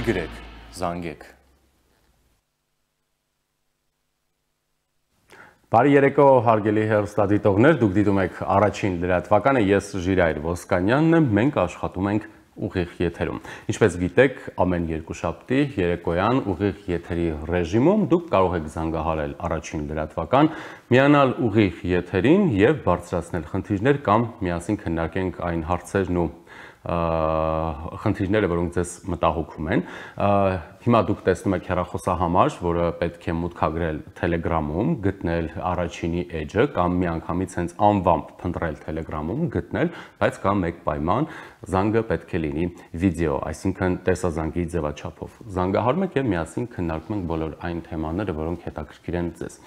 գրեք, զանգեք։ Բարի երեկո, հարգելի հեռուստադիտողներ, դուք դիտում եք առաջին լրատվականը, ես Ժիրայր Ոսկանյանն եմ, մենք աշխատում ենք ուղիղ եթերում։ Ինչպես գիտեք, ամեն երկուշաբթի երեկոյան ուղիղ եթերի ռեժիմում դուք կարող եք զանգահարել առաջին լրատվական, միանալ ուղիղ եթերին եւ բարձրացնել խնդիրներ կամ միասին քննարկենք այն հարցերն ու խնդիրները, որոնք ձեզ մտահոգում են։ Հիմա դուք տեսնում եք հեռախոսահամար, որը պետք է մուտքագրել Telegram-ում, գտնել առաջինի էջը կամ միանգամից հենց անվամբ փնտրել Telegram-ում, գտնել, բայց կա մեկ պայման, զանգը պետք է լինի վիդեո, այսինքն տեսազանգի ձևաչափով։ Զանգահարում եք եւ միասին քննարկում ենք բոլոր այն թեմաները, որոնք հետաքրքիր են ձեզ։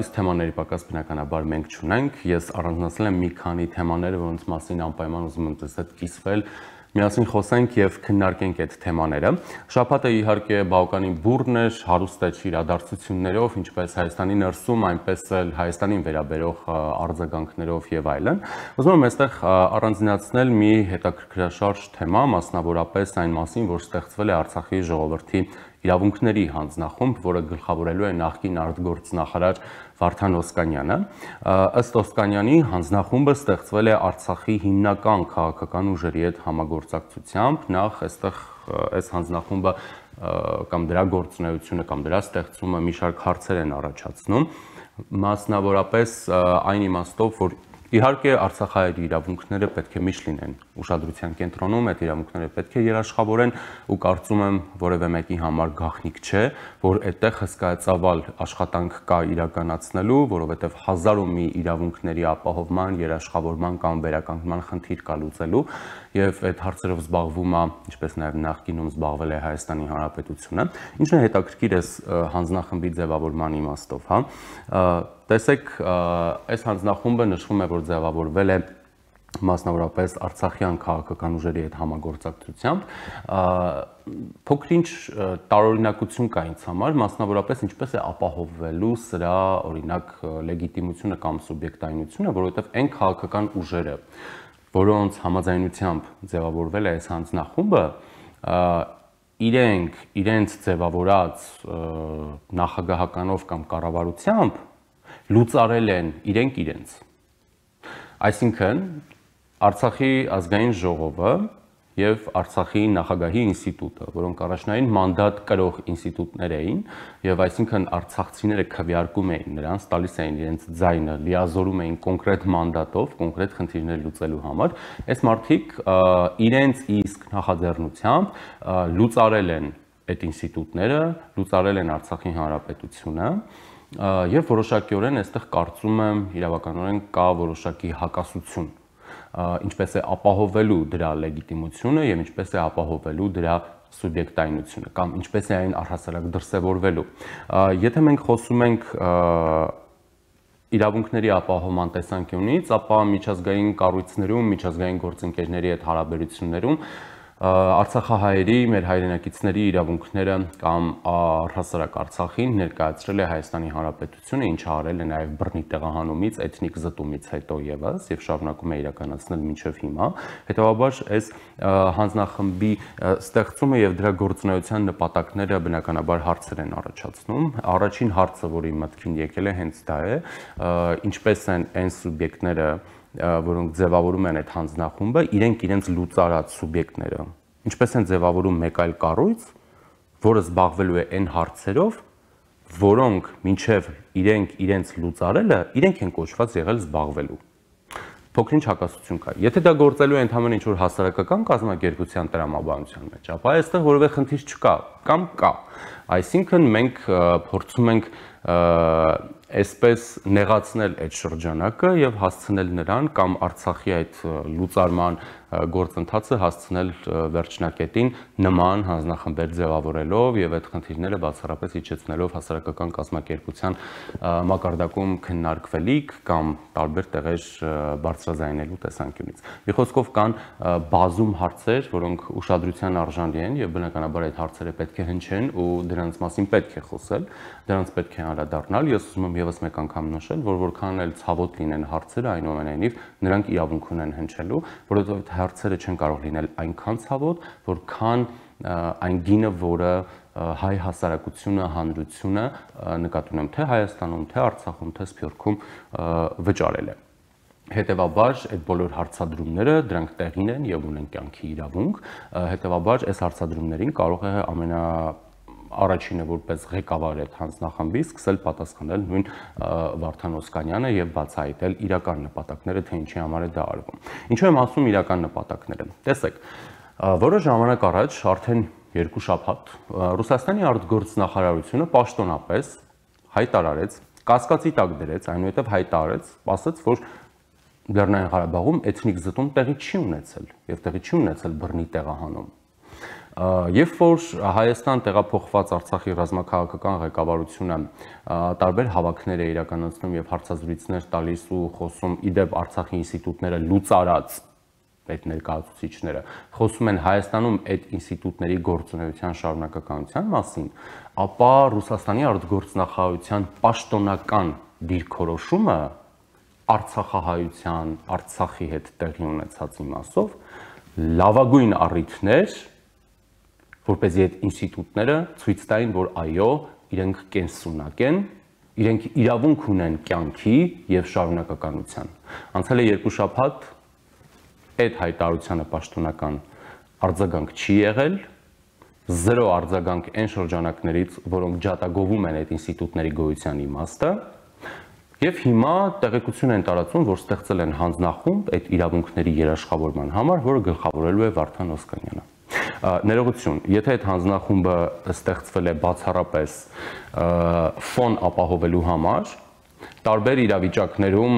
Իսկ թեմաների պակաս բնականաբար մենք չունենք, ես առանձնացրել եմ մի քանի թեմաներ, որոնց մասին անպայման ուզում եմ ձեզ հետ կիսվել, միասին խոսենք եւ քննարկենք այդ թեմաները։ Շաբաթը իհարկե բավականին բուռն էր, հարուստ էր իրադարձություններով, ինչպես Հայաստանի ներսում, այնպես էլ Հայաստանին վերաբերող արձագանքներով եւ այլն։ Ուզում եմ այստեղ առանձնացնել մի հետաքրքրաշարժ թեմա, մասնավորապես այն մասին, որ ստեղծվել է Արցախի ժողովրդի իրավունքների հանձնախումբ, որը գլխավորելու է նախկին արտգործնախարար Վարդան Օսկանյանը։ Ըստ Օսկանյանի հանձնախումբը ստեղծվել է Արցախի հիմնական քաղաքական ուժերի հետ համագործակցությամբ, նախ այստեղ այս հանձնախումբը կամ դրա գործունեությունը կամ դրա ստեղծումը մի շարք հարցեր են առաջացնում, մասնավորապես այն իմաստով, որ իհարկե արցախահայերի իրավունքները պետք է միշտ լինեն ուշադրության կենտրոնում, այդ իրավունքները պետք է երաշխավորեն ու կարծում եմ որևէ մեկի համար գաղտնիք չէ, որ այդտեղ հսկայածավալ աշխատանք կա իրականացնելու, որովհետև հազար ու մի իրավունքների ապահովման, երաշխավորման կամ վերականգնման խնդիր կա լուծելու եւ այդ հարցերով զբաղվում է, ինչպես նաեւ նախկինում զբաղվել է Հայաստանի Հանրապետությունը։ Ինչն է հետաքրքիր է հանձնախմբի ձևավորման իմաստով, հա։ Տեսեք, այս հանձնախումբը նշվում է, որ ձևավորվել է մասնավորապես արցախյան քաղաքական ուժերի հետ համագործակցությամբ, փոքր-ինչ տարօրինակություն կա ինձ համար, մասնավորապես ինչպես է ապահովվելու սրա օրինակ լեգիտիմությունը կամ սուբյեկտայնությունը, որովհետև այն քաղաքական ուժերը, որոնց համաձայնությամբ ձևավորվել է այս հանձնախումբը, իրենց ձևավորած նախագահականով կամ կառավարությամբ լուծարել են իրենց։ Այսինքն Արցախի ազգային ժողովը եւ Արցախի նախագահի ինստիտուտը, որոնք առաջնային մանդատ կրող ինստիտուտներ էին, եւ այսինքն արցախցիները քվեարկում էին նրանց, տալիս էին իրենց ձայնը, լիազորում էին կոնկրետ մանդատով, կոնկրետ խնդիրներ լուծելու համար, այս մարդիկ իրենց իսկ նախաձեռնությամբ լուծարել են այդ ինստիտուտները, լուծարել են Արցախի Հանրապետությունը եւ որոշակիորեն այստեղ կարծում եմ իրավականորեն կա որոշակի հակասություն, ինչպես է ապահովելու դրա լեգիտիմությունը եւ ինչպես է ապահովելու դրա սուբյեկտայնությունը կամ ինչպես է այն առհասարակ դրսևորվելու։ Եթե մենք խոսում ենք իրավունքների ապահովման տեսանկյունից, ապա միջազգային կառույցներում, միջազգային գործընկերների հետ հարաբերություններում արցախահայերի, մեր հայրենակիցների իրավունքները կամ առհասարակ Արցախին ներկայացրել է Հայաստանի Հանրապետությունը, ինչը արել է նաև բռնի տեղահանումից, էթնիկ զտումից հետո եւս եւ շարունակում է իրականացնել մինչեւ հիմա։ Հետևաբար այս հանձնախմբի ստեղծումը եւ դրա գործունեության նպատակները բնականաբար հարցեր են առաջացնում։ Առաջին հարցը, որի մտքին եկել է, հենց դա է, ինչպես են այն սուբյեկտները, որոնք ձևավորում են այդ հանձնախումբը, իրենց լուծարած սուբյեկտները, ինչպես են ձևավորում մեկ այլ կառույց, որը զբաղվելու է այն հարցերով, որոնք մինչև իրենց լուծարելը, իրենք են կոչված եղել զբաղվելու։ Փոքր-ինչ հակասություն կա։ Եթե դա գործելու է ընդհանրապես ինչ-որ հասարակական կազմակերպության տրամաբանության մեջ, ապա այստեղ որևէ խնդիր չկա կամ կա։ Այսինքն մենք փորձում ենք այսպես նեղացնել այդ շրջանակը եւ հասցնել նրան կամ Արցախի այդ լուծարման գործընթացը հասցնել վերջնակետին նման հանձնախմբեր ձևավորելով եւ այդ խնդիրները բացառապես իջեցնելով հասարակական կազմակերպության մակարդակում քննարկվելիք կամ տարբեր տեղեր բարձրաձայնելու տեսանկյունից։ Մի խոսքով կան բազում հարցեր, որոնք ուշադրության արժանի են եւ բնականաբար այդ հարցերը պետք է հնչեն ու դրանց մասին պետք է խոսել, դրանց պետք է անդրադառնալ։ Ես ուզում եմ եւս մեկ անգամ նշել, որ որքան էլ ցավոտ լինեն հարցերը, այնուամենայնիվ նրանք իրավունք ունեն հնչելու, որովհետեւ հարցերը չեն կարող լինել այնքան ցավոտ, որքան այն գինը, որը հայ հասարակությունը, հանրությունը նկատի ունեմ թե Հայաստանում, թե Արցախում, թե Սփյուռքում վճարել է։ Հետևաբար այդ բոլոր հարցադրումները դրանք տեղին են եւ ունեն կյանքի իրավունք, հետևաբար այս հարցադրումներին կարող է առաջինը որպես ղեկավար այդ հանձնախմբի սկսել պատասխանել նույն Վարդան Օսկանյանը եւ բացահայտել իրական նպատակները, թե ինչի համար է դա արվում։ Ինչու եմ ասում իրական նպատակները։ Տեսեք, որոշ ժամանակ առաջ, արդեն 2 շաբաթ, Ռուսաստանի արտգործնախարարությունը պաշտոնապես հայտարարեց, կասկածի տակ դրեց, այնուհետև հայտարարեց, ասաց, որ Լեռնային Ղարաբաղում էթնիկ զտում տեղի չի ունեցել եւ տեղի չի ունեցել բռնի տեղահանում։ Երբ որ Հայաստան տեղափոխված Արցախի ռազմաքաղաքական ղեկավարությունը տարբեր հավաքներ է իրականացնում եւ հարցազրույցներ տալիս ու խոսում իդեպ Արցախի ինստիտուտները լուծարած այդ ներկայացուցիչները խոսում են Հայաստանում այդ ինստիտուտների գործունեության շարունակականության մասին, ապա Ռուսաստանի արտգործնախարարության պաշտոնական դիրքորոշումը Արցախահայության, Արցախի հետ տեղի ունեցած իմաստով լավագույն առիթներ, որպեսզի այդ ինստիտուտները ցույց տային, որ այո, իրենք կենսունակ են, իրենք իրավունք ունեն կյանքի եւ շարունակականության։ Անցել է 2 շաբաթ, այդ հայտարարությանը պաշտոնական արձագանք չի եղել, 0 արձագանք այն շրջանակներից, որոնք ջատագովում են այդ ինստիտուտների գոյության իմաստը, եւ հիմա տեղեկություն են տարածում, որ ստեղծել են հանձնախումբ այդ իրավունքների երաշխավորման համար, որը գլխավորելու է Վարդան Օսկանյանը։ Ներողություն, եթե այդ հանձնախումբը ստեղծվել է բացառապես ֆոն ապահովելու համար, տարբեր իրավիճակներում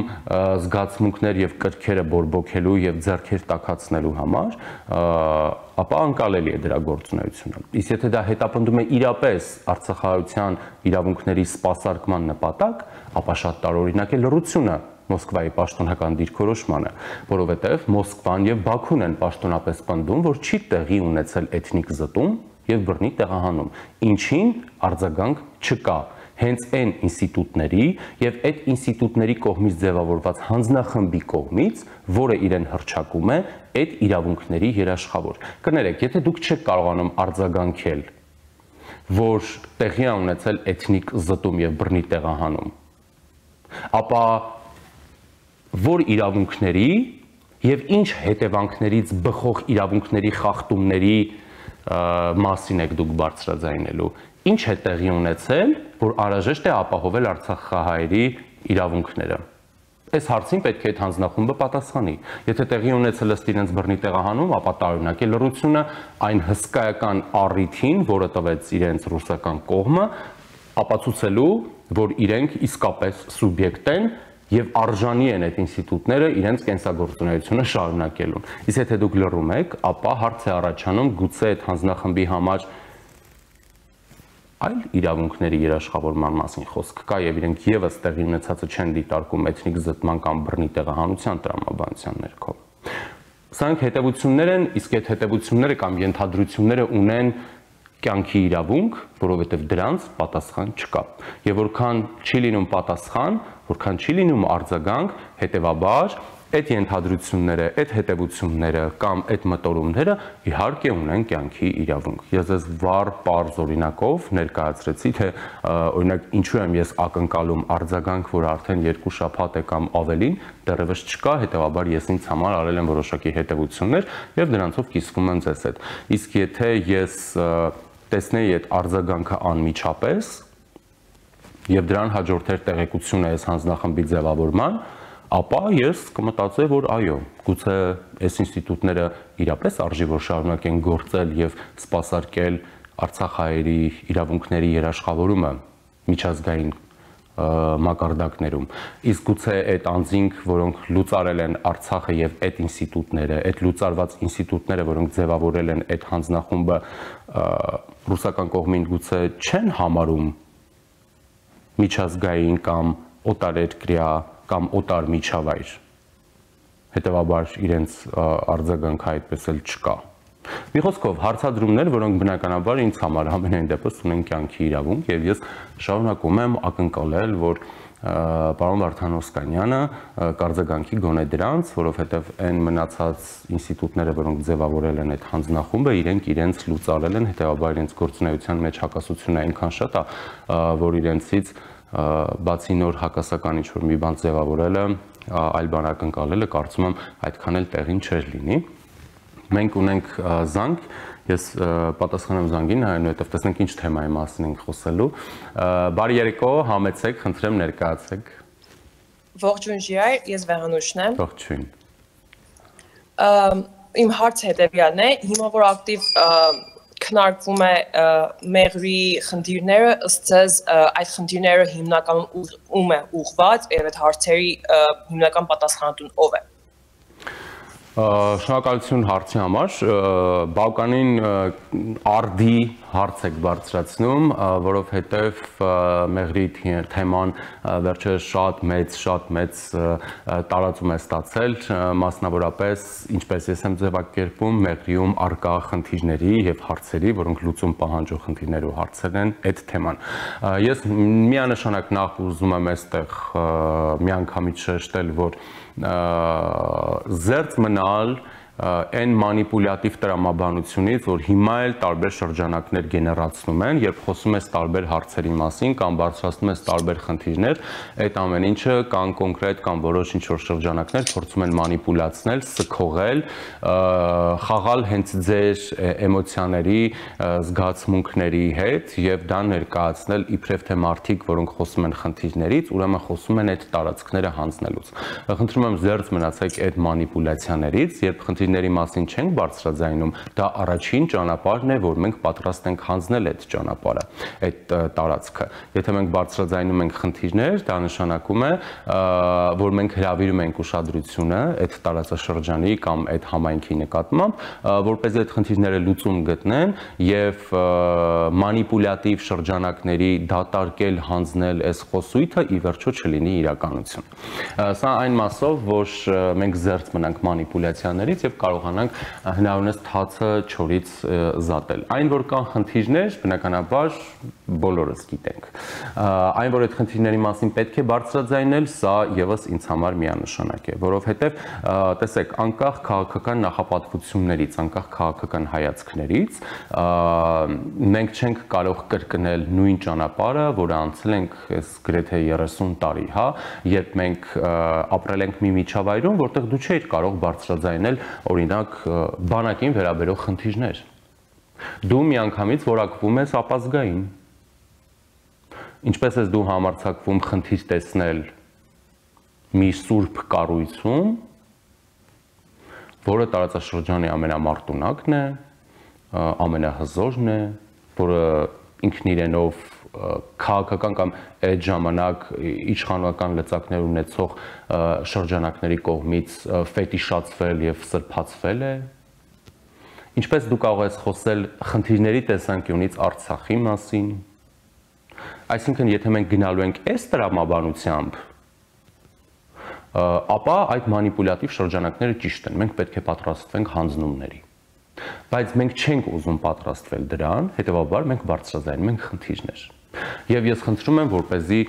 զգացմունքներ եւ կրքերը բորբոքելու եւ ձեռքեր տաքացնելու համար, ապա անկալելի է դրա գործունեությունը։ Իսկ եթե դա հետապնդում է իրապես արցախահայության իրավունքների սպասարկման նպատակ, ապա շատ տարօրինակ է լռությունը Մոսկվայի պաշտոնական դիրքորոշմանը, որովհետև Մոսկվան եւ Բաքուն են պաշտոնապես պնդում, որ չի տեղի ունեցել էթնիկ զտում եւ բռնի տեղահանում, ինչին արձագանք չկա։ Հենց այն ինստիտուտների եւ այդ ինստիտուտների կողմից ձևավորված հանձնախմբի կողմից, որը իրեն հռչակում է այդ իրավունքների երաշխավոր։ Կներեք, եթե դուք չեք կարողանում արձագանքել, որ տեղի է ունեցել էթնիկ զտում եւ բռնի տեղահանում, ապա որ իրավունքների եւ ինչ հետևանքներից բխող իրավունքների խախտումների մասին եք դուք բարձրաձայնելու, ինչ է տեղի ունեցել, որ անհրաժեշտ է ապահովել արցախահայերի իրավունքները։ Այս հարցին պետք է այդ հանձնախումբը պատասխանի։ Եթե տեղի ունեցել ըստ իրենց բռնի տեղահանում, ապա տարօրինակ է լռությունը այն հսկայական առիթին, որը տվեց իրենց ռուսական կողմը, ապացուցելու, որ իրենք իսկապես սուբյեկտ են եւ արժանի են այդ ինստիտուտները իրենց կենսագործունեությունը շարունակելուն։ Իսկ եթե դուք լռում եք, ապա հարց է առաջանում գուցե այդ հանձնախմբի համար այլ իրավունքների երաշխավորման մասին խոսք կա եւ իրենք եւս տեղի ունեցածը չեն դիտարկում էթնիկ զտման կամ բռնի տեղահանության տրամաբանության ներքո։ Սրանք հետևություններ են, իսկ այդ հետևությունները կամ ենթադրությունները ունեն կյանքի իրավունք, որովհետև դրանց պատասխան չկա։ Եվ որքան չի լինում պատասխան, որքան չի լինում արձագանք, հետևաբար այդ ենթադրությունները, այդ հետևությունները կամ այդ մտորումները իհարկե ունեն կյանքի իրավունք։ Ես ձեզ վառ պարզ օրինակով ներկայացրեցի, թե օրինակ ինչու եմ ես ակնկալում արձագանք, որ արդեն 2 շաբաթ է կամ ավելին դեռևս չկա, հետևաբար ես ինձ համար արել եմ որոշակի հետևություններ եւ դրանցով կիսվում եմ ձեզ հետ։ Իսկ եթե ես տեսնեի այդ արձագանքը անմիջապես եւ դրան հաջորդեր տեղեկությունը այս հանձնախմբի ձևավորման, ապա ես կմտածեի, որ այո, գուցե այս ինստիտուտները իրապես արժի որ շարունակեն գործել եւ սպասարկել արցախահայերի իրավունքների երաշխավորումը միջազգային մակարդակներում։ Իսկ գուցե այդ անձինք, որոնք լուծարել են Արցախը եւ այդ ինստիտուտները, այդ լուծարված ինստիտուտները, որոնք ձևավորել են այդ հանձնախումբը, ռուսական կողմին գուցե չեն համարում միջազգային կամ օտարերկրյա կամ օտար միջավայր, հետևաբար իրենց արձագանքը այդպես էլ չկա։ Մի խոսքով հարցադրումներ, որոնք բնականաբար ինձ համար ամենայն դեպս ունեն կյանքի իրավունք եւ ես շարունակում եմ ակնկալել, որ պարոն Վարդան Օսկանյանը կարձագանքի գոնե դրանց, որովհետև այն մնացած ինստիտուտները, որոնք ձևավորել են այդ հանձնախումբը, իրենք իրենց լուծարել են, հետեւաբար իրենց գործունեության մեջ հակասությունը այնքան շատ է, որ իրենցից բացի նոր հակասական ինչ-որ մի բան ձևավորելը, այլ բան ակնկալելը կարծում եմ այդքան էլ տեղին չէր լինի։ Մենք ունենք զանգ, ես պատասխանեմ զանգին, այնուհետև տեսնենք ինչ թեմայի մասին ենք խոսելու։ Բարի երեկո, համեցեք, խնդրեմ ներկայացեք։ Ողջույն Ժիրայր, ես Վեղանուշն եմ։ Ողջույն։ Իմ հարցը հետևյալն է, հիմա որ ակտիվ քննարկվում է մեղրի խնդիրները, ըստ ձեզ այդ խնդիրները հիմնականում ում է ուղղված եւ այդ հարցերի հիմնական պատասխանատուն ով է։ Շնորհակալություն հարցի համար, բավականին արդի հարց եք բարձրացնում, որովհետև մեղրի թեման վերջերս շատ մեծ տարածում է ստացել, մասնավորապես, ինչպես ես եմ ձևակերպում, մեղրիում առկա խնդիրների եւ հարցերի, որոնք լուծում պահանջող խնդիրներ ու հարցեր են այդ թեման։ Ես միանշանակ նախ ուզում եմ այստեղ միանգամից շեշտել, որ զերծ մնալ այն մանիպուլյատիվ տրամաբանությունից, որ հիմա էլ տարբեր շրջանակներ գեներացնում են, երբ խոսում ես տարբեր հարցերի մասին կամ բարձրացնում ես տարբեր խնդիրներ, այդ ամեն ինչը կան կոնկրետ կամ որոշ ինչ-որ շրջանակներ փորձում են մանիպուլացնել, սքողել, խաղալ հենց ձեր էմոցիաների, զգացմունքների հետ եւ դա ներկայացնել իբրև թե մարդիկ, որոնք խոսում են խնդիրներից, ուրեմն խոսում են այդ տարածքները հանձնելուց։ Խնդրում եմ զերծ մնացեք այդ մանիպուլյացիաներից, երբ խնդիրների մասին չենք բարձրաձայնում, դա առաջին ճանապարհն է, որ մենք պատրաստ ենք հանձնել այդ ճանապարհը, այդ տարածքը։ Եթե մենք բարձրաձայնում ենք խնդիրներ, դա նշանակում է, որ մենք հրավիրում ենք ուշադրությունը այդ տարածաշրջանի կամ այդ համայնքի նկատմամբ, որպեսզի այդ խնդիրները լուծում գտնեն եւ մանիպուլյատիվ շրջանակների դատարկել, հանձնել այս խոսույթը ի վերջո չլինի իրականություն։ Սա այն մասով, որ մենք զերծ մնանք մանիպուլյացիաներից եւ կարողանանք հնարավորինս թացը չորից զատել։ Այն, որ կան խնդիրներ, բնականաբար բոլորս գիտենք։ Այն, որ այդ խնդիրների մասին պետք է բարձրաձայնել, սա եւս ինձ համար միանշանակ է, որովհետեւ տեսեք, անկախ քաղաքական նախապատվություններից, անկախ քաղաքական հայացքներից, մենք չենք կարող կրկնել նույն ճանապարհը, որը անցել ենք այս գրեթե 30 տարի, հա, երբ մենք ապրել ենք մի միջավայրում, որտեղ դու չէիր կարող բարձրաձայնել, օրինակ, բանակին վերաբերող խնդիրներ։ Դու միանգամից որակվում ես ապազգային։ Ինչպես ես դու համարձակվում խնդիր տեսնել մի սուրբ կառույցում, որը տարածաշրջանի ամենամարտունակն է, ամենահզորն է, որը ինքն իրենով քաղաքական կամ այդ ժամանակ իշխանական լծակներ ունեցող շրջանակների կողմից ֆետիշացվել եւ սրբացվել է։ Ինչպես դու կարող ես խոսել խնդիրների տեսանկյունից Արցախի մասին։ Այսինքն, եթե մենք գնալու ենք այս տրամաբանությամբ, ապա այդ մանիպուլյատիվ շրջանակները ճիշտ են, մենք պետք է պատրաստվենք հանձնումների։ Բայց մենք չենք ուզում պատրաստվել դրան, հետեւաբար մենք բարձրաձայնում ենք խնդիրներ։ Եվ ես խնդրում եմ, որպեսզի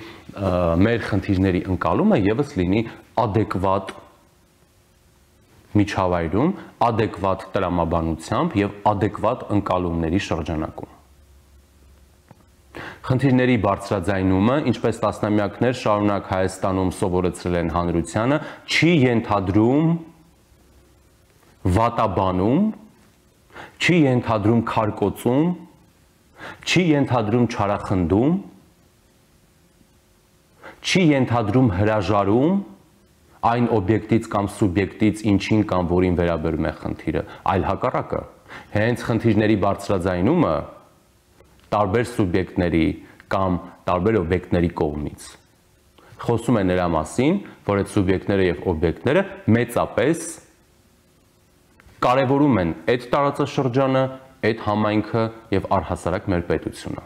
մեր խնդիրների ընկալումը եւս լինի adekvat միջավայրում, adekvat տրամաբանությամբ եւ adekvat ընկալումների շրջանակում։ Խնդիրների բարձրաձայնումը, ինչպես տասնամյակներ շարունակ Հայաստանում սովորեցրել են հանրությանը, չի ենթադրում վատաբանում, չի ենթադրում քարկոծում, չի ենթադրում չարախնդում, չի ենթադրում հրաժարում այն օբյեկտից կամ սուբյեկտից, ինչին կամ որին վերաբերում է խնդիրը, այլ հակառակը։ Հենց խնդիրների բարձրաձայնումը տարբեր սուբյեկտների կամ տարբեր օբյեկտների կողմից խոսում է նրա մասին, որ այդ սուբյեկտները եւ օբյեկտները մեծապես կարևորում են այդ տարածաշրջանը, այդ համայնքը եւ առհասարակ մեր պետությունը։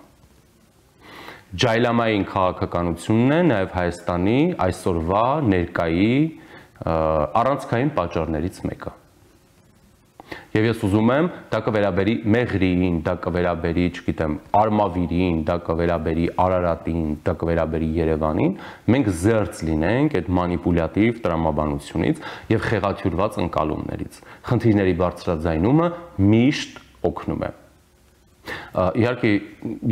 Ջայլամային քաղաքականությունն է նաեւ Հայաստանի այսօրվա ներկայի առանցքային պատճառներից մեկը։ Եվ ես ուզում եմ դա կվերաբերի Մեղրիին, դա կվերաբերի, չգիտեմ, Արմավիրին, դա կվերաբերի Արարատին, դա կվերաբերի Երևանին, մենք զերծ լինենք այդ մանիպուլյատիվ տրամաբանությունից եւ խեղաթյուրված ընկալումներից։ Խնդիրների բարձրաձայնումը միշտ օգնում է։ Իհարկե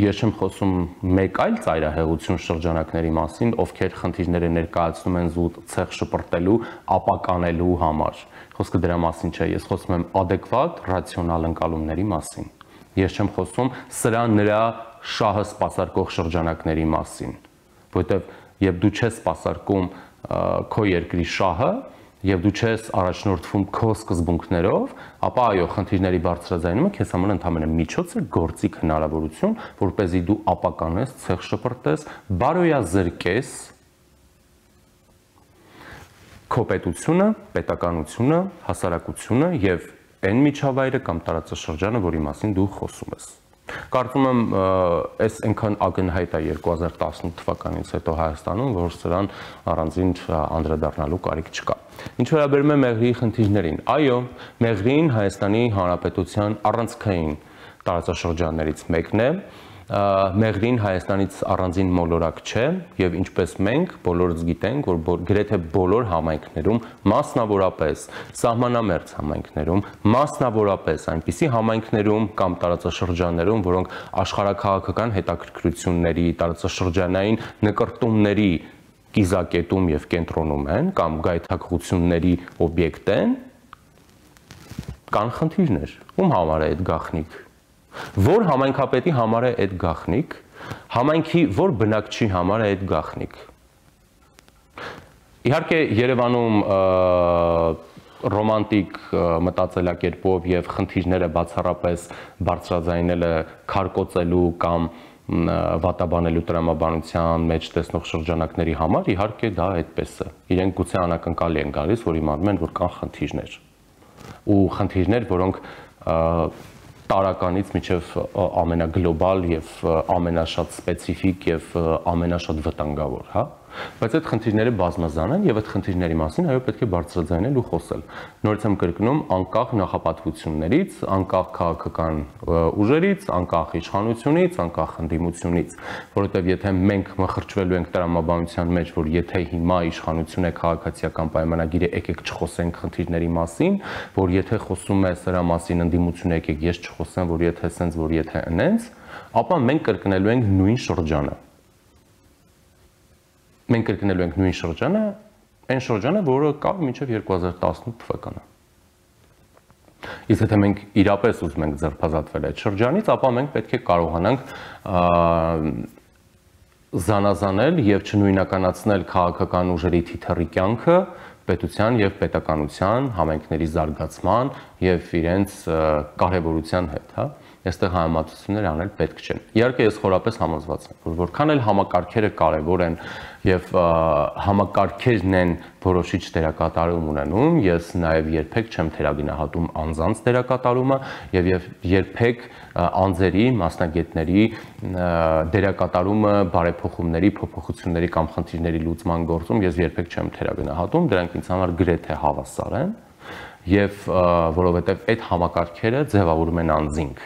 ես չեմ խոսում մեկ այլ ծայրահեղություն շրջանակների մասին, ովքեր խնդիրները ներկայացնում են զուտ ցեղ շպրտելու, ապականելու համար։ Խոսքը դրա մասին չէ, ես խոսում եմ adekvat, ռացիոնալ ընկալումների մասին։ Ես չեմ խոսում սրա նրա շահը սպասարկող շրջանակների մասին, որովհետև երբ դու չես սպասարկում քո երկրի շահը, եւ դու չես առաջնորդվում քո սկզբունքներով, ապա այո, խնդիրների բարձրաձայնումը քեզ համար ընդհանրապես միջոց է, գործիք հնարավորություն, որպեսզի դու ապականես, ցեղ շպրտես, բարոյազրկես քո պետությունը, պետականությունը, հասարակությունը եւ այն միջավայրը կամ տարածաշրջանը, որի մասին դու խոսում ես։ Կարծում եմ, այս այնքան ակնհայտ է 2018 թվականից հետո Հայաստանում, որ սրան առանձին անդրադառնալու կարիք չկա։ Ինչ վերաբերում է Մեղրիի խնդիրներին, այո, Մեղրին Հայաստանի Հանրապետության առանցքային տարածաշրջաններից մեկն է, Մեղրին Հայաստանից առանձին մոլորակ չէ եւ ինչպես մենք բոլորս գիտենք, որ գրեթե բոլոր համայնքներում, մասնավորապես սահմանամերձ համայնքներում, մասնավորապես այնպիսի համայնքներում կամ տարածաշրջաններում, որոնք աշխարհաքաղաքական հետաքրքրությունների, տարածաշրջանային նկրտումների կիզակետում եւ կենտրոնում են կամ գայթակղությունների օբյեկտ են, կան խնդիրներ։ Ում համար է այդ գաղտնիք։ Որ համայնքապետի համար է այդ գաղտնիք, համայնքի որ բնակչի համար է այդ գաղտնիք։ Իհարկե Երևանում ռոմանտիկ մտածելակերպով եւ խնդիրները բացառապես բարձրաձայնելը քարկոծելու կամ վատաբանելու տրամաբանության մեջ տեսնող շրջանակների համար իհարկե դա այդպես է։ Իրենք գուցե անակնկալի են գալիս, որ իմանում են, որ կան խնդիրներ։ Ու խնդիրներ, որոնք տարականից մինչև ամենագլոբալ եւ ամենաշատ սպეციფիկ եւ ամենաշատ վտանգավոր, հա, բայց այդ խնդիրները բազմազան են եւ այդ խնդիրների մասին այո պետք է բարձրաձայնել ու խոսել։ Նորից եմ կրկնում, անկախ նախապատվություններից, անկախ քաղաքական ուժերից, անկախ իշխանությունից, անկախ ընդդիմությունից, որովհետեւ եթե մենք մխրճվելու ենք տրամաբանության մեջ, որ եթե հիմա իշխանություն է քաղաքացիական պայմանագիրը, եկեք չխոսենք խնդիրների մասին, որ եթե խոսում է սրա մասին ընդդիմությունը, եկեք ես չխոսեմ, որ եթե սենց, որ եթե ընենց, ապա մենք կրկնելու ենք նույն շրջանը։ Մենք կրկնելու ենք նույն շրջանը, այն շրջանը, որը կա մինչև 2018 թվականը։ Իսկ եթե մենք իրապես ուզում ենք ձերբազատվել այդ շրջանից, ապա մենք պետք է կարողանանք զանազանել եւ չնույնականացնել քաղաքական ուժերի թիթեռի կյանքը պետության եւ պետականության, համայնքների զարգացման եւ իրենց կարեւորության հետ, հա։ Այստեղ համեմատություններ անել պետք չեն։ Իհարկե ես խորապես համոզված եմ, որ որքան էլ համակարգերը կարևոր են եւ համակարգերն են որոշիչ դերակատարում ունենում, ես նաեւ երբեք չեմ թերագնահատում անձանց դերակատարումը եւ երբեք անձերի, մասնագետների դերակատարումը բարեփոխումների, փոփոխությունների կամ խնդիրների լուծման գործում ես երբեք չեմ թերագնահատում, դրանք ինձ համար գրեթե հավասար են եւ որովհետեւ այդ համակարգերը ձևավորում են անձինք։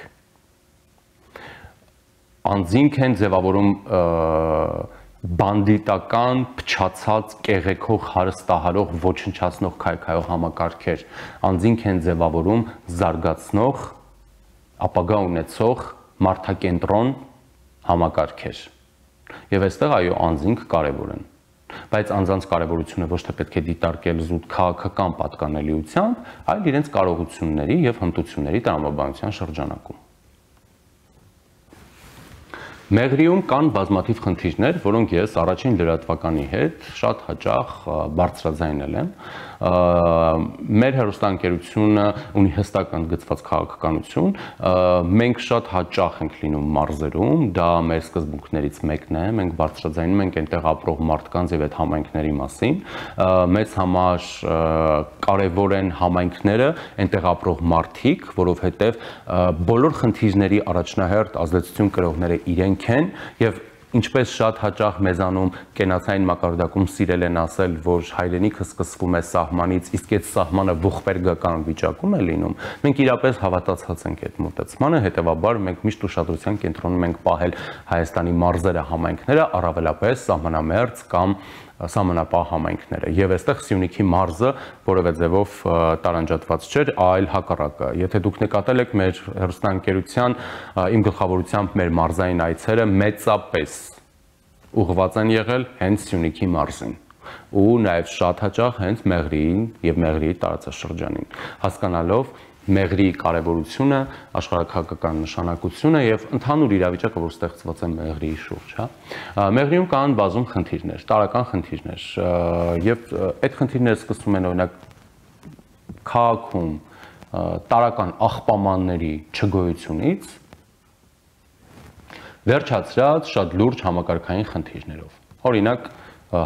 Անձինք են ձևավորում բանդիտական, փչացած, կեղեքող, հարստահարող, ոչնչացնող քայքայող համակարգեր, անձինք են ձևավորում զարգացնող, ապագա ունեցող մարդակենտրոն համակարգեր։ Եվ այստեղ այո, անձինք կարևոր են։ Բայց անձանց կարևորությունը ոչ թե պետք է դիտարկել զուտ քաղաքական պատկանելիությամբ, այլ իրենց կարողությունների եւ հմտությունների տրամաբանության շրջանակում։ Մեղրիում կան բազմաթիվ խնդիրներ, որոնք ես առաջին լրատվականի հետ շատ հաճախ բարձրաձայնել եմ։ Մեր հեռուստաընկերությունը ունի հստակ ընդգծված քաղաքականություն, մենք շատ հաճախ ենք լինում մարզերում, դա մեր սկզբունքներից մեկն է, մենք բարձրաձայնում ենք այնտեղ ապրող մարդկանց եւ այդ համայնքների մասին, մեզ համար կարևոր են համայնքները, այնտեղ ապրող մարդիկ, որովհետեւ բոլոր խնդիրների առաջնահերթ ազդեցություն կրողները իրենք են եւ ինչպես շատ հաճախ մեզանում կենացային մակարդակում սիրել են ասել, որ հայրենիքը սկսվում է սահմանից, իսկ այդ սահմանը ողբերգական վիճակում է լինում, մենք իրապես հավատացած ենք այդ մոտեցմանը, հետևաբար մենք միշտ ուշադրության կենտրոնում ենք պահել Հայաստանի մարզերը, համայնքները, առավելապես սահմանամերձ կամ սահմանապահ համայնքները։ Եվ այստեղ Սյունիքի մարզը որևէ ձևով տարանջատված չէր, այլ հակառակը։ Եթե դուք նկատել եք մեր հեռուստաընկերության իմ գլխավորությամբ մեր մարզային այցերը մեծապես ուղղված են եղել հենց Սյունիքի մարզին ու նաև շատ հաճախ հենց Մեղրիին եւ Մեղրիի տարածաշրջանին, հասկանալով Մեղրիի կարևորությունը, աշխարհաքաղաքական նշանակությունը եւ ընդհանուր իրավիճակը, որ ստեղծված է Մեղրիի շուրջ, հա։ Մեղրիում կան բազում խնդիրներ, տարրական խնդիրներ, եւ այդ խնդիրները սկսվում են օրինակ քաղաքում տարրական աղբամանների չգոյությունից, վերջացրած շատ լուրջ համակարգային խնդիրներով։ Օրինակ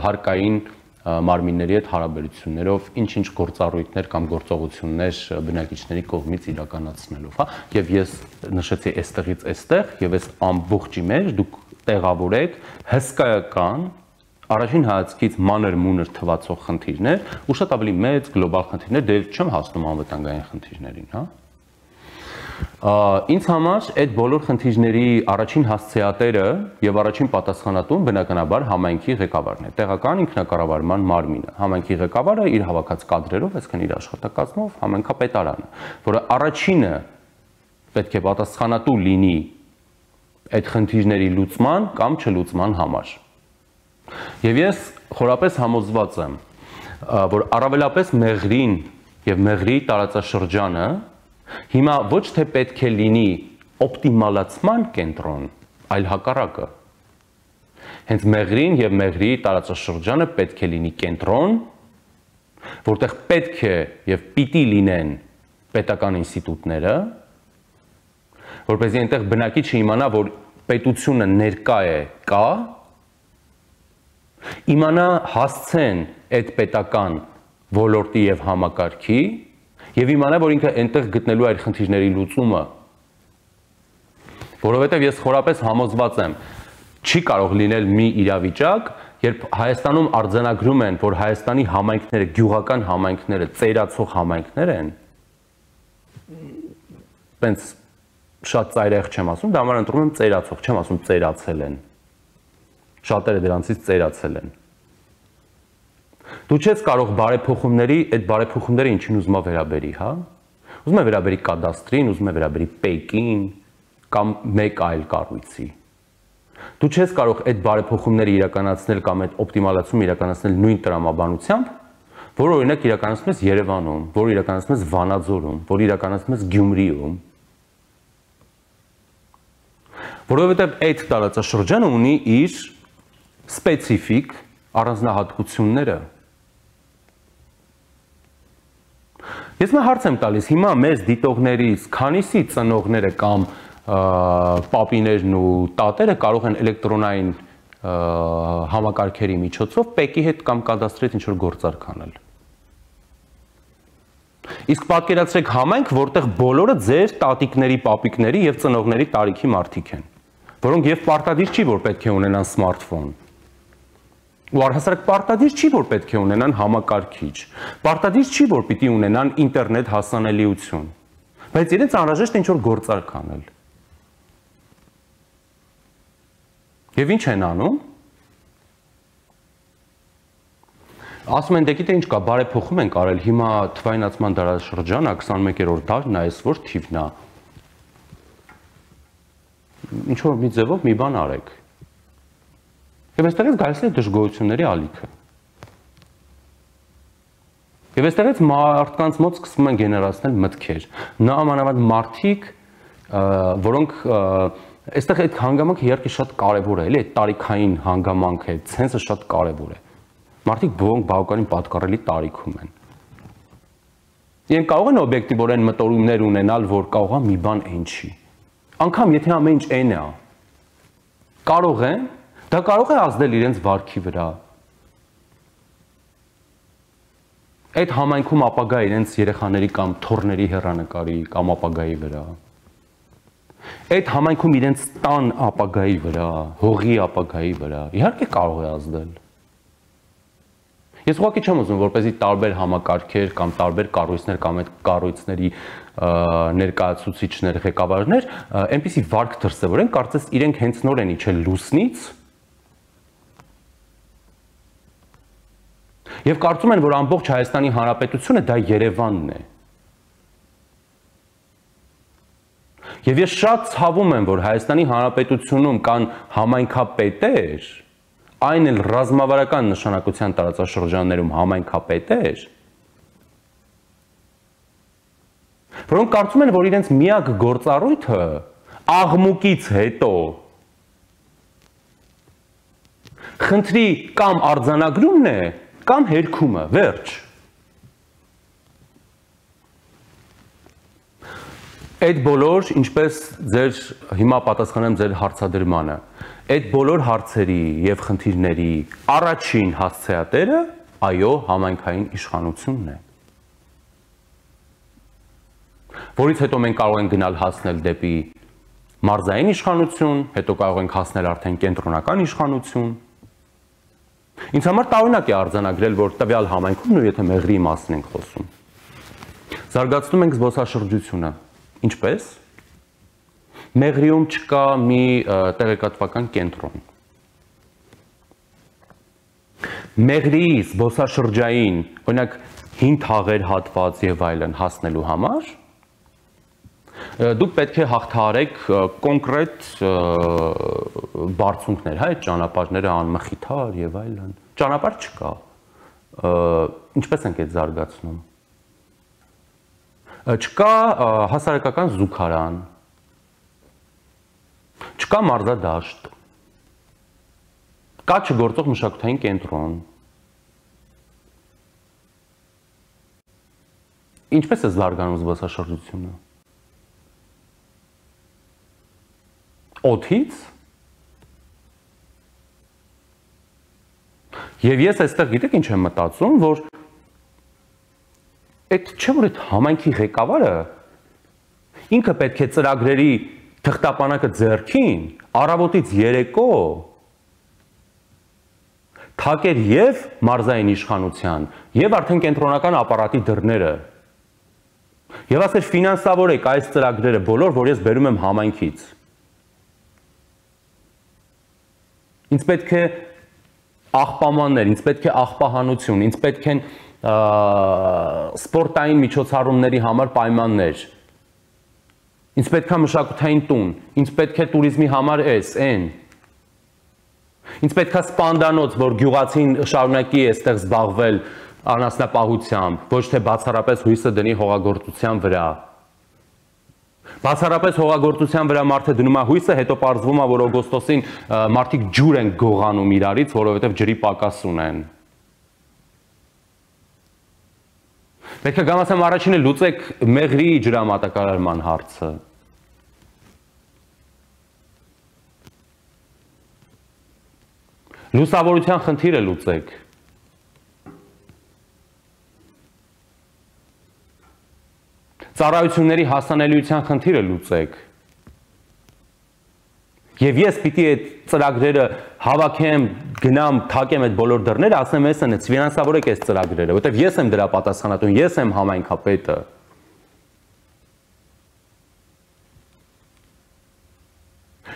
հարկային մարմինների հետ հարաբերություններով ինչ-ինչ գործառույթներ կամ գործողություններ բնակիչների կողմից իրականացնելով, հա, եւ ես նշեցի այստեղից այստեղ եւ այս ամբողջի մեջ դուք տեղավորեք հսկայական առաջին հայացքից մանր-մունր թվացող խնդիրներ ու շատ ավելի մեծ գլոբալ խնդիրներ, դե չեմ հասնում անվտանգային խնդիրներին, հա։ Ինձ համար այդ բոլոր խնդիրների առաջին հասցեատերը եւ առաջին պատասխանատուն բնականաբար համայնքի ղեկավարն է, տեղական ինքնակառավարման մարմինը։ Համայնքի ղեկավարը իր հավաքած կադրերով, այսինքն իր աշխատակազմով համայնքապետարանը, որը առաջինը պետք է պատասխանատու լինի այդ խնդիրների լուծման կամ չլուծման համար։ Եվ ես խորապես համոզված եմ, որ առավելապես Մեղրին եւ Մեղրիի տարածաշրջանը հիմա ոչ թե պետք է լինի օպտիմալացման կենտրոն, այլ հակառակը։ Հենց Մեղրին եւ Մեղրիի տարածաշրջանը պետք է լինի կենտրոն, որտեղ պետք է եւ պիտի լինեն պետական ինստիտուտները, որպեսզի այնտեղ բնակիչը իմանա, որ պետությունը ներկա է, կա, իմանա հասցեն այդ պետական ոլորտի եւ համակարգի եւ իմանա, որ ինքը այնտեղ գտնելու այդ խնդիրների լուծումը, որովհետեւ ես խորապես համոզված եմ, չի կարող լինել մի իրավիճակ, երբ Հայաստանում արձանագրում են, որ Հայաստանի համայնքները, գյուղական համայնքները ծերացող համայնքներ են, տենց շատ ծայրահեղ չեմ ասում, դա համար ընտրում եմ ծերացող, չեմ ասում ծերացել են, շատերը դրանցից ծերացել են։ Դու չես կարող բարեփոխումների, այդ բարեփոխումները ինչին ուզում է վերաբերի, հա։ Ուզում է վերաբերի կադաստրին, ուզում է վերաբերի ՊԵԿ-ին կամ մեկ այլ կառույցի։ Դու չես կարող այդ բարեփոխումները իրականացնել կամ այդ օպտիմալացումը իրականացնել նույն տրամաբանությամբ, որ օրինակ իրականացնում ես Երևանում, որ իրականացնում ես Վանաձորում, որ իրականացնում ես Գյումրիում։ Որովհետև այդ տարածաշրջանը ունի իր սպეციფიկ առանձնահատկությունները։ Ես մի հարց եմ տալիս, հիմա մեզ դիտողներից քանիսի ծնողները կամ պապիներն ու տատերը կարող են էլեկտրոնային համակարգերի միջոցով ՊԵԿ-ի հետ կամ կադաստրի հետ ինչ-որ գործարք անել։ Իսկ պատկերացրեք համայնք, որտեղ բոլորը ձեր տատիկների, պապիկների եւ ծնողների տարիքի մարդիկ են, որոնք եւ պարտադիր չի, որ պետք է ունենան սմարթֆոն։ Ու առհասարակ պարտադիր չի, որ պետք է ունենան համակարգիչ, պարտադիր չի, որ պիտի ունենան ինտերնետ հասանելիություն, բայց իրենց անհրաժեշտ ինչ-որ գործարք անել։ Եվ ինչ են անում։ Ասում են, դե գիտե ինչ կա, բարեփոխում ենք արել, հիմա թվայնացման դարաշրջանը 21-րդ դարն է, այս որ թիվն է։ Ինչ-որ մի ձևով մի բան արեք։ Եվ այստեղից գալիս է դժգոհությունների ալիքը։ Եվ այստեղից մարդկանց մոտ սկսում են գեներացնել մտքեր։ Նամանավանդ մարդիկ, որոնք այստեղ այդ հանգամանքը իհարկե շատ կարևոր է, էլի այդ տարիքային հանգամանքը, այդ ցենսը շատ կարևոր է։ Մարդիկ որոնք բավականին պատկառելի տարիքում են։ Իրենք կարող են օբյեկտիվորեն մտորումներ ունենալ, որ կարող է մի բան այն չի։ Անկամ եթե ամեն ինչ այն է, կարող են, դա կարող է ազդել իրենց վարքի վրա։ Այդ համայնքում ապագա իրենց երեխաների կամ թոռների հեռանկարի կամ ապագայի վրա։ այդ համայնքում իրենց տան ապագայի վրա, հողի ապագայի վրա, իհարկե կարող է ազդել։ Ես ուղղակի չեմ ուզում, որպեսզի տարբեր համակարգեր կամ տարբեր կառույցներ կամ այդ կառույցների ներկայացուցիչներ, ղեկավարներ այնպիսի վարք դրսևորեն, կարծես իրենք հենց նոր են իջել լուսնից եւ կարծում են, որ ամբողջ Հայաստանի Հանրապետությունը դա Երևանն է։ Եվ ես շատ ցավում եմ, որ Հայաստանի Հանրապետությունում կան համայնքապետեր, այն էլ ռազմավարական նշանակության տարածաշրջաններում համայնքապետեր, որոնք կարծում են, որ իրենց միակ գործառույթը աղմուկից հետո խնդրի կամ արձանագրումն է, կամ հերքումը, վերջ։ Այդ բոլոր, ինչպես ձեր հիմա պատասխանեմ ձեր հարցադրմանը, այդ բոլոր հարցերի եւ խնդիրների առաջին հասցեատերը, այո, համայնքային իշխանությունն է։ Որից հետո մենք կարող ենք գնալ հասնել դեպի մարզային իշխանություն, հետո կարող ենք հասնել արդեն կենտրոնական իշխանություն։ Ինձ համար տարօրինակ է արձանագրել, որ տվյալ համայնքում, ու եթե Մեղրիի մասին ենք խոսում, զարգացնում ենք զբոսաշրջությունը։ Ինչպես։ Մեղրիում չկա մի տեղեկատվական կենտրոն։ Մեղրիի զբոսաշրջային, օրինակ, հին թաղեր հատված եւ այլն հասնելու համար դուք պետք է հաղթահարեք կոնկրետ բարձունքներ, հա, այդ ճանապարհները անմխիթար եւ այլն։ Ճանապարհ չկա։ Ինչպես ենք այդ զարգացնում։ Չկա հասարակական զուգարան, չկա մարզադաշտ, կա չգործող մշակութային կենտրոն։ Ինչպես է զարգանում զբոսաշրջությունը։ Օդից։ Եվ ես այստեղ գիտեք ինչ եմ մտածում, որ այդ չէ որ այդ համայնքի ղեկավարը ինքը պետք է ծրագրերի թղթապանակը ձեռքին, առավոտից երեկո թակեր եւ մարզային իշխանության, եւ արդեն կենտրոնական ապարատի դռները։ Եվ ասեր ֆինանսավորեք այս ծրագրերը բոլոր, որ ես բերում եմ համայնքից։ Ինձ պետք է աղբամաններ, ինձ պետք է աղբահանություն, ինձ պետք են սպորտային միջոցառումների համար պայմաններ, ինձ պետք է մշակութային տուն, ինձ պետք է туриզմի համար այն, ինձ պետք է սպանդանոց, որ գյուղացին շարունակի այստեղ զբաղվել անասնապահությամբ, ոչ թե բացառապես հույսը դնի հողագործության վրա։ Բացառապես հողագործության վրա մարդը դնում է հույսը, հետո պարզվում է, որ օգոստոսին մարդիկ ջուր են գողանում իրարից, որովհետև ջրի պակաս ունեն։ Պետք է գամասեմ առաջինը լուծեք Մեղրիի ջրամատակարարման հարցը։ Լուսավորության խնդիրը լուծեք։ Ծառայությունների հասանելիության խնդիրը լուծեք։ Եվ ես պիտի այդ ծրագրերը հավաքեմ, գնամ, թակեմ այդ բոլոր դռները, ասեմ ես են, ֆինանսավորեք այս ծրագրերը, որտեղ ես եմ դրա պատասխանատուն, ես եմ համայնքապետը։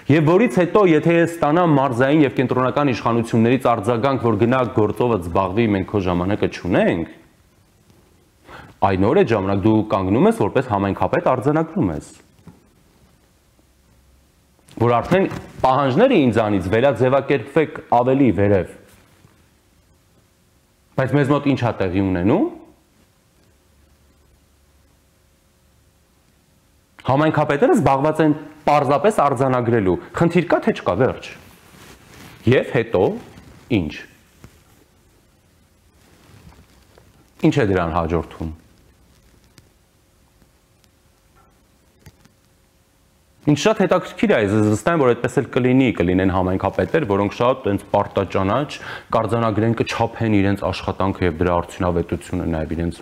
Եվ որից հետո, եթե ես ստանամ մարզային եւ կենտրոնական իշխանություններից արձագանք, որ գնա գործովը զբաղվի, մենք քո ժամանակը չունենք, այն օր այդ ժամանակ դու կանգնում ես, որպես համայնքապետ արձանագրում ես։ Որ արդեն պահանջները ինձանից վերաձևակերպվեք ավելի վերև։ Բայց մեզ մոտ ինչ է տեղի ունենում։ Համայնքապետերը զբաղված են պարզապես արձանագրելու։ Խնդիր կա թե չկա, վերջ։ Եվ հետո ինչ։ Ինչ է դրան հաջորդում։ Ինչ շատ հետաքրքիր է, ես վստահ եմ, որ այդպես էլ կլինեն համայնքապետեր, որոնք շատ այնց պարտաճանաչ կարձանագրեն, կչափեն իրենց աշխատանքը եւ դրա արդյունավետությունը, նաեւ իրենց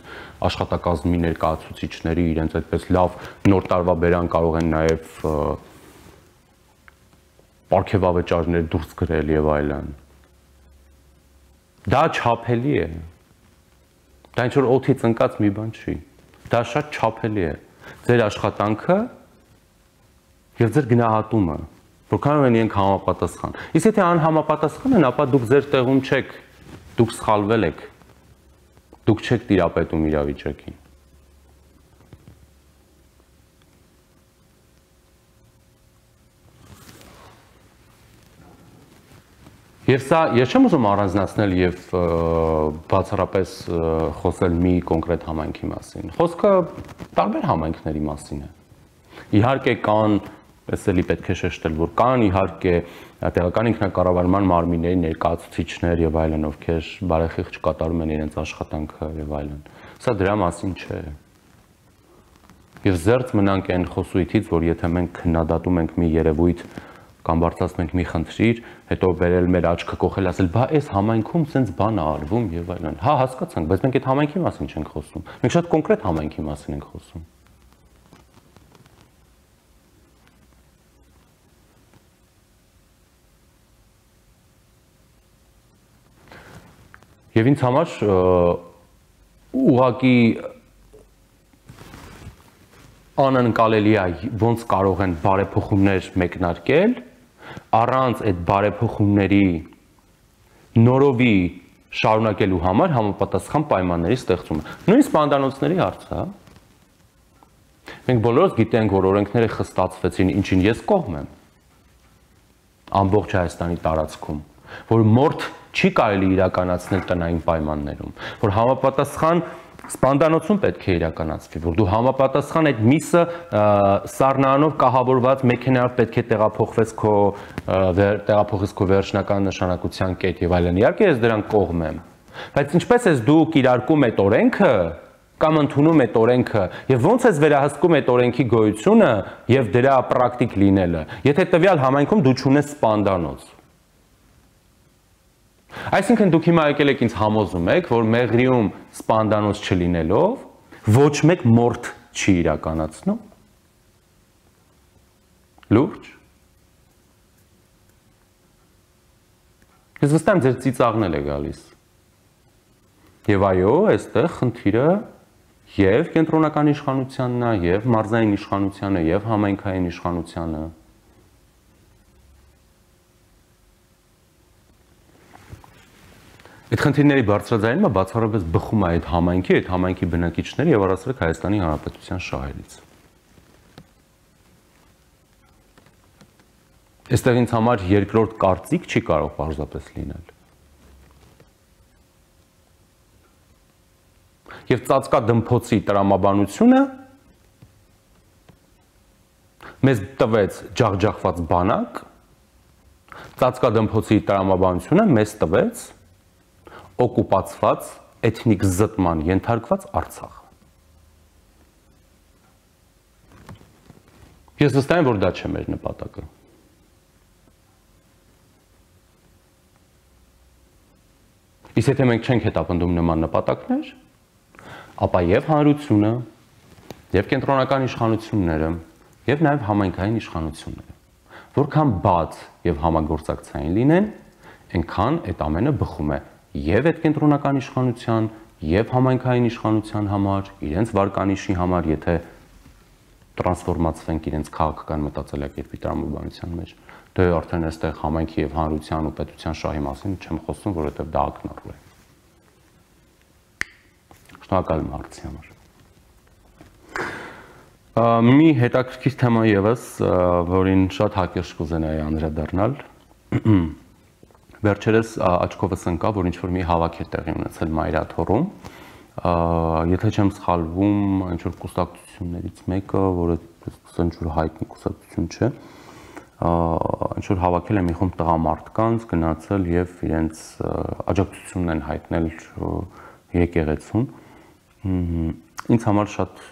աշխատակազմի ներկայացուցիչների, իրենց այդպես լավ նոր տարվա բերան կարող են նաեւ պարգևավճարներ դուրս գրել եւ այլն։ Դա չափելի է։ Դա ինչ որ օդից ընկած մի բան չի։ Դա շատ չափելի է։ Ձեր աշխատանքը եւ ձեր գնահատումը, որքանով են իրենք համապատասխան։ Իսկ եթե անհամապատասխան են, ապա դուք ձեր տեղում չեք, դուք սխալվել եք։ Դուք չեք տիրապետում իրավիճակին։ Եվ սա ես չեմ ուզում առանձնացնել եւ բացառապես խոսել մի կոնկրետ համայնքի մասին։ Խոսքը տարբեր համայնքների մասին է։ Իհարկե կան, ես էլի պետք է շեշտել, որ կան իհարկե տեղական ինքնակառավարման մարմինների ներկայացուցիչներ եւ այլն, ովքեր բարեխիղճ կատարում են իրենց աշխատանքը եւ այլն։ Սա դրա մասին չէ։ Եվ զերծ մնանք այն խոսույթից, որ եթե մենք քննադատում ենք մի երևույթ կամ բարձրացնում ենք մի խնդիր, հետո վերել մեր աչքը կողել, ասել, բա այս համայնքում սենց բան է արվում եւ այլն։ Հա, հասկացանք, բայց մենք այդ համայնքի մասին չենք խոսում։ Մենք շատ կոնկրետ համայնքի մասին ենք խոսում։ Եվ ինձ համար ուղղակի անընկալելի է ոնց կարող են բարեփոխումներ մեկնարկել առանց այդ բարեփոխումների նորովի շարունակելու համար համապատասխան պայմանների ստեղծումը։ Նույնիսկ սպանդանոցների հարցը, մենք բոլորս գիտենք, որ օրենքները խստացվեցին, ինչին ես կողմ եմ, ամբողջ Հայաստանի տարածքում, որ մորթ չի կարելի իրականացնել տնային պայմաններում, որ համապատասխան սպանդանոցում պետք է իրականացվի, որ դու համապատասխան այդ միսը սառնարանով կահավորված մեքենայով պետք է տեղափոխես քո վերջնական նշանակության կետ եւ այլն։ Իհարկե ես դրան կողմ եմ, բայց ինչպես ես դու կիրարկում այդ օրենքը կամ ընդունում այդ օրենքը եւ ոնց ես վերահսկում այդ օրենքի գոյությունը եւ դրա պրակտիկ լինելը, եթե տվյալ համայնքում դու չունես սպանդանոց։ Այսինքն դուք հիմա եկել եք ինձ համոզում եք, որ Մեղրիում սպանդանոց չլինելով ոչ մեկ մորթ չի իրականացնում։ Լուրջ։ Ես վստահ եմ ձեր ծիծաղն է գալիս։ Եվ այո, այստեղ խնդիրը եւ կենտրոնական իշխանությանն է, եւ մարզային իշխանությանը, եւ համայնքային իշխանությանը։ Այդ խնդիրների բարձրաձայնումը բացառապես բխում է այդ համայնքի բնակիչների եւ առասարակ Հայաստանի Հանրապետության շահերից։ Այստեղ ինձ համար երկրորդ կարծիք չի կարող պարզապես լինել։ Եվ ծածկադմփոցի տրամաբանությունը մեզ տվեց ջախջախված բանակ, ծածկադմփոցի տրամաբանությունը մեզ տվեց օկուպացված, էթնիկ զտման ենթարկված Արցախ։ Ես վստահ եմ, որ դա չէ մեր նպատակը։ Իսկ եթե մենք չենք հետապնդում նման նպատակներ, ապա եւ հանրությունը, եւ կենտրոնական իշխանությունները, եւ նաեւ համայնքային իշխանությունները, որքան բաց եւ համագործակցային լինեն, այնքան այդ ամենը բխում է եւ այդ կենտրոնական իշխանության եւ համայնքային իշխանության համար, իրենց վարկանիշի համար, եթե տրանսֆորմացվենք իրենց քաղաքական մտածելակերպի տրամաբանության մեջ, դե արդեն այստեղ համայնքի եւ հանրության ու պետության շահի մասին չեմ խոսում, որովհետեւ դա ակնառու է։ Շնորհակալ եմ հարցի համար։ Մի հետաքրքիր թեմա եւս, որին շատ հակիրճ կուզենայի անդրադառնալ։ Վերջերս աչքովս ընկավ, որ ինչ-որ մի հավաք է տեղի ունեցել Մայրաթոռում, եթե չեմ սխալվում, ինչ-որ կուսակցություններից մեկը, որը ինչ-որ հայտնի կուսակցություն չէ, ինչ-որ հավաքել է մի խումբ տղամարդկանց, գնացել եւ իրենց աջակցությունն են հայտնել եկեղեցուն։ Ինձ համար շատ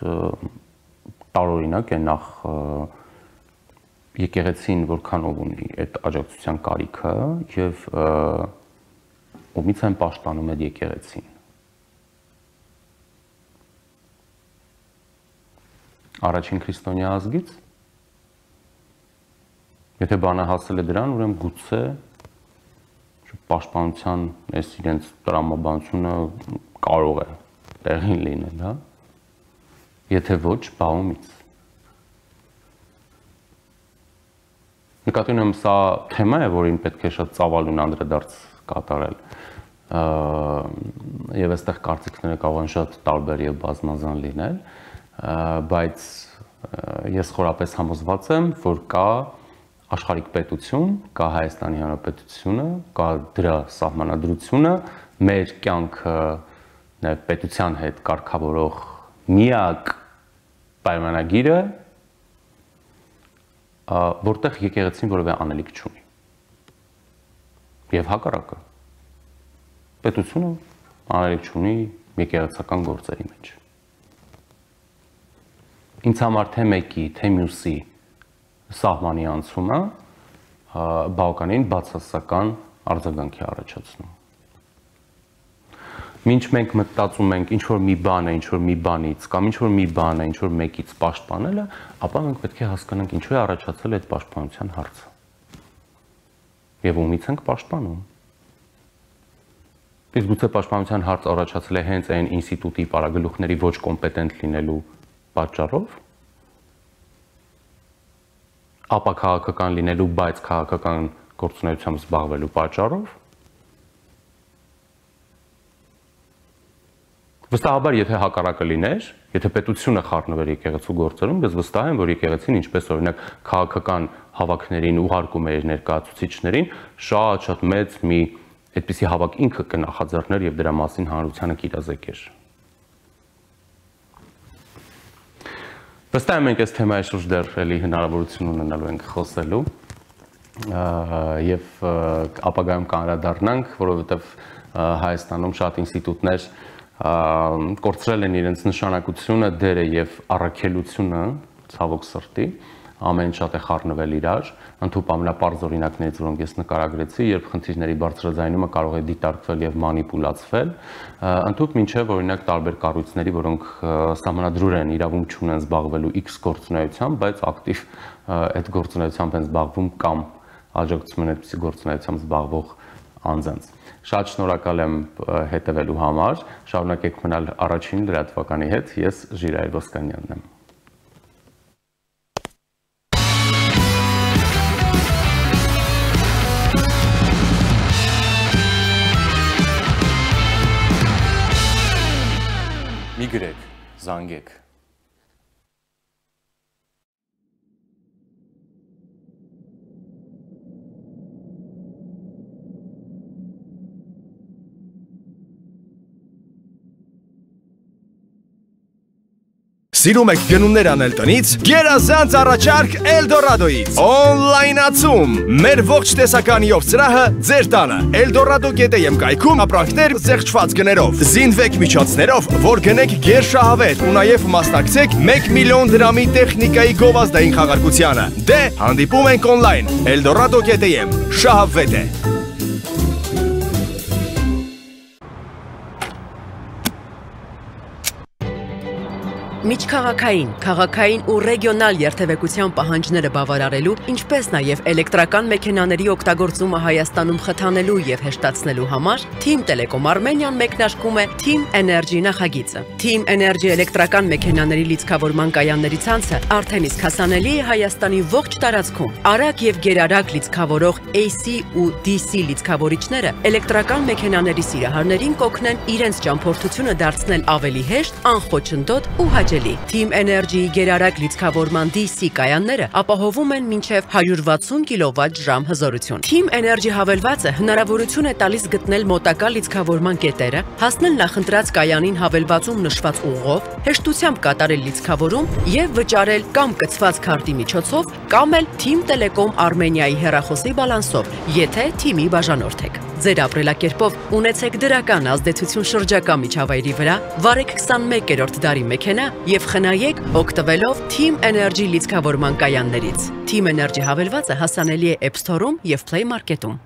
տարօրինակ է նախ եկեղեցին որքանով ունի այդ աջակցության կարիքը եւ ումից են պաշտպանում այդ եկեղեցին։ Առաջին քրիստոնյա ազգից Եթե բանը հասել է դրան, ուրեմն գուցե պաշտպանության այս իրենց տրամաբանությունը կարող է տեղին լինել, հա։ Եթե ոչ, բաղումից։ Նկատի ունեմ, սա թեմա է, որին պետք է շատ ծավալուն անդրադարձ կատարել։ Եվ այստեղ կարծիքները կարող են շատ տարբեր եւ բազմազան լինել, բայց ես խորապես համոզված եմ, որ կա աշխարհիկ պետություն, կա Հայաստանի Հանրապետությունը, կա դրա սահմանադրությունը, մեր կյանքը պետության հետ կարգավորող միակ պայմանագիրը, որտեղ եկեղեցին որևէ անելիք չունի։ Եվ հակառակը, պետությունը անելիք չունի եկեղեցական գործերի մեջ։ Ինձ համար թե մեկի, թե մյուսի սահմանի անցումը բավականին բացասական արձագանք է առաջացնում։ Մինչ մենք մտածում ենք ինչ-որ մի բան է, ինչ-որ մի բանից, կամ ինչ-որ մի բան է, ինչ-որ մեկից պաշտպանելը, ապա մենք պետք է հասկանանք ինչու է առաջացել այդ պաշտպանության հարցը։ Եվ ումից ենք պաշտպանում։ Իսկ գուցե պաշտպանության հարց առաջացել է հենց այն ինստիտուտի պարագլուխների ոչ կոմպետենտ լինելու պատճառով, ապա քաղաքական լինելու, բայց քաղաքական գործունեությամբ զբաղվելու պատճառով։ Վստահաբար, եթե հակառակը լիներ, եթե պետությունը խառնվեր եկեղեցու գործերում, ես վստահ եմ, որ եկեղեցին, ինչպես օրինակ քաղաքական հավաքներին ուղարկում էր ներկայացուցիչներին, շատ մեծ մի այդպիսի հավաք ինքը կնախաձեռներ եւ դրա մասին հանրությանը կիրազեկեր։ Վստահ եմ, մենք այս թեմայի շուրջ դեռ էլի հնարավորություն ունենալու ենք խոսելու եւ ապագայում կանդրադառնանք, որովհետեւ Հայաստանում շատ ինստիտուտներ կորցրել են իրենց նշանակությունը, դերը եւ առաքելությունը, ցավոք սրտի, ամեն շատ է խառնվել իրար, ընդհանուր ամենապարզ օրինակներից, որոնք ես նկարագրեցի, երբ խնդիրների բարձրաձայնումը կարող է դիտարկվել եւ մանիպուլացվել, ընդհանուր մինչեւ օրինակ տարբեր կառույցների, որոնք սահմանադրուր են իրավունք չունեն զբաղվելու X գործունեությամբ, բայց ակտիվ այդ գործունեությամբ են զբաղվում կամ աջակցում են այդպիսի գործունեությամբ զբաղվող անձանց։ Շատ շնորհակալ եմ հետևելու համար, շարունակեք մնալ առաջին լրատվականի հետ, ես Ժիրայր Ոսկանյանն եմ։ Մի գրեք, զանգեք։ Սիրում եք գնումներ անել տնից, գերազանց առաջարկ Էլդորադոից։ Օնլայնացում։ Մեր ողջ տեսականիով սրահը ձեր տանը։ Eldorado.am կայքում ապրանքներ զեղչված գներով։ Զինվեք միջոցներով, որ գնեք գերշահավետ ու նաև մասնակցեք 1 միլիոն դրամի տեխնիկայի գովազդային խաղարկությանը։ Դե հանդիպում ենք օնլայն։ Eldorado.am շահավետ է։ Միջքաղաքային, քաղաքային ու ռեգիոնալ երթևեկության պահանջները բավարարելու, ինչպես նաև էլեկտրական մեքենաների օգտագործումը Հայաստանում խթանելու եւ հեշտացնելու համար Team Telecom Armenian մեկնարկում է Team Energy նախագիծը։ Team Energy էլեկտրական մեքենաների լիցքավորման կայանների ցանցը արդեն իսկ հասանելի է Հայաստանի ողջ տարածքում։ Արագ եւ գերարագ լիցքավորող AC ու DC լիցքավորիչները էլեկտրական մեքենաների սիրահարներին կօգնեն իրենց ճամփորդությունը դարձնել ավելի հեշտ, անխոչնդոտ ու Team Energy-ի գերարագ լիցքավորման DC կայանները ապահովում են մինչև 160 կՎտ/ժ հզորություն։ Team Energy հավելվածը հնարավորություն է տալիս գտնել մոտակա լիցքավորման կետերը, հասնել նախընտրած կայանին հավելվածում նշված ուղով, հեշտությամբ կատարել լիցքավորում եւ վճարել կամ կցված քարտի միջոցով, կամ էլ Team Telecom Armenia-ի հեռախոսի բալանսով, եթե թիմի բաժանորդ եք։ Ձեր ապրելակերպով ունեցեք դրական ազդեցություն շրջակա միջավայրի վրա, վարեք 21-րդ դարի մեքենա եւ խնայեք օգտվելով Team Energy լիցքավորման կայաններից։ Team Energy հավելվածը հասանելի է App Store-ում եւ Play Market-ում։